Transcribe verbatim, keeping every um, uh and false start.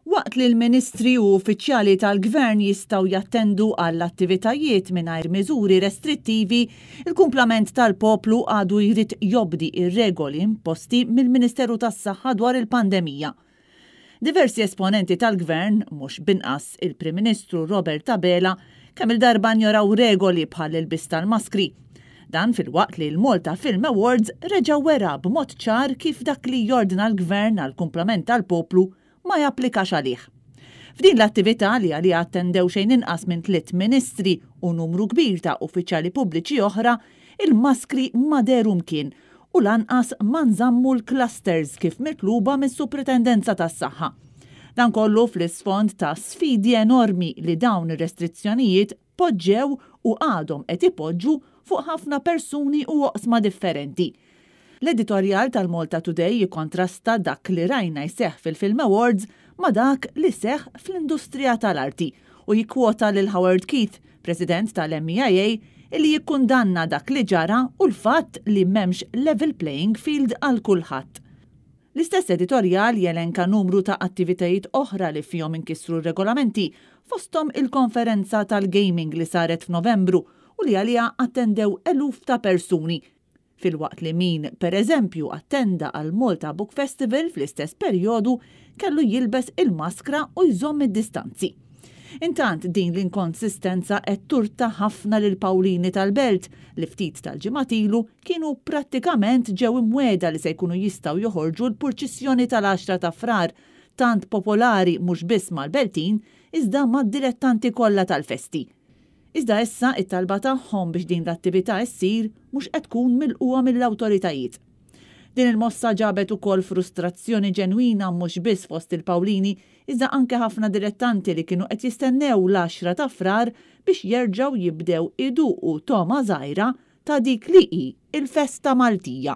Waqt li l-ministri u uffiċjali tal-gvern jistgħu jattendu għall-attivitajiet mingħajr miżuri restrittivi, il-kumplament tal-poplu għadu jrid jobdi ir-regoli imposti mill-Ministeru tas-Saħħa dwar il-pandemija. Diversi esponenti tal-gvern, mhux b'inqas il-Prim Ministru Robert Abela, kemm il-darba njoraw regoli bħal ilbies tal-maskri. Dan filwaqt li l-Malta Film Awards reġa' wera b'mod ċar kif dak li jordna l-gvern għal kumplament tal-poplu ma japplikax għalih. F'din l-attività, li għaliha attendew xejn inqas minn tliet ministri u numru kbir ta' uffiċjali pubbliċi oħra, il-maskri ma dehru mkien u lanqas ma nżammu l-clusters kif mitluba mis-Supritendenza tas-Saħħa. Dan kollu fl-isfond ta' sfidi enormi li dawn ir-restrizzjonijiet poġġew u għadhom qed ipoġġu fuq ħafna persuni u oqsma differenti. L-editorjal tal-Malta Today jikontrasta dak li rajna jseħ fil-Film Awards ma dak li seħ fl-industrija tal-arti u jikkwota lil Howard Keith, president tal-M E I A, illi jikkundanna dak li ġara u l-fatt li m'hemmx level playing field għal kulħadd. L-istess editorjal jelenka numru ta' attivitajiet oħra li fihom inkisru regolamenti, fostom il-konferenza tal-gaming li saret f'Novembru u li għalija attendew eluf ta' persuni, filwaqt li min, per eżempju, attenda għal Malta Book Festival fl-istess perjodu kellu jilbes il-maskra u jżomm id-distanzi. Intant, din l-inkonsistenza qed turta ħafna lil Pawlini tal-Belt li ftit tal-ġimgħat ilu kienu prattikament ġew imwiegħda li se jkunu jistgħu joħorġu l-purċissjoni tal-għaxra ta' Frar, tant popolari mhux biss mal-Beltin iżda mad-dilettanti kollha tal-festi. Iżda issa it-talba tagħhom biex din l-attività ssir mhux qed tkun milqugħa mill-awtoritajiet. Din il-mossa ġabet ukoll frustrazzjoni ġenwina mhux biss fost il-Pawlini, iżda anke ħafna dilettanti li kienu qed jistennew l-għaxra ta' Frar biex jerġgħu jibdew iduqu togħma żgħira ta' dik li hi il-festa Maltija.